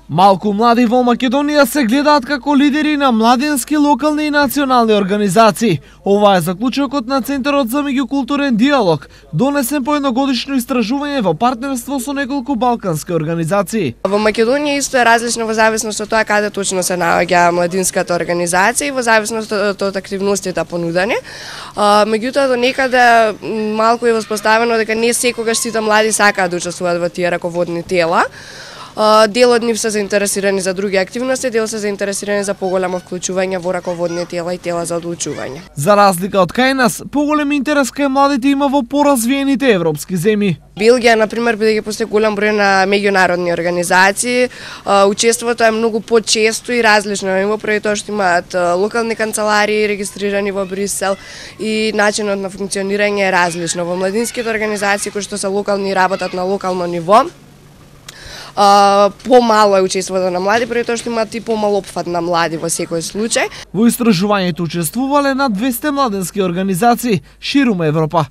Малку млади во Македонија се гледаат како лидери на младински, локални и национални организации. Ова е заклучокот на Центарот за меѓукултурен диалог, донесен по едногодишно истражување во партнерство со неколку балкански организации. Во Македонија исто е различно во зависност од тоа каде точно се наоѓа младинската организација и во зависност од активностите понудени. Меѓутоа до некаде малку е воспоставено дека не секогаш сите млади сакаат да учествуваат во тие раководни тела. Дел од нив се заинтересирани за други активности, дел се заинтересирани за поголемо вклучување во раководни тела и тела за одлучување. За разлика од кај нас, поголем интерес кај младите има во поразвиените европски земји. Белгија, например, бидејќи постои голем број на меѓународни организации, учеството е многу почесто и различно на ниво, поради тоа што имаат локални канцеларии регистрирани во Брисел и начинот на функционирање е различно. Во младинските организации кои што се локални и работат на локално ниво, помало е учеството на млади, поради тоа што имаат и помал опфат на млади во секој случај. Во истражувањето учествувале над 200 младински организации ширум Европа.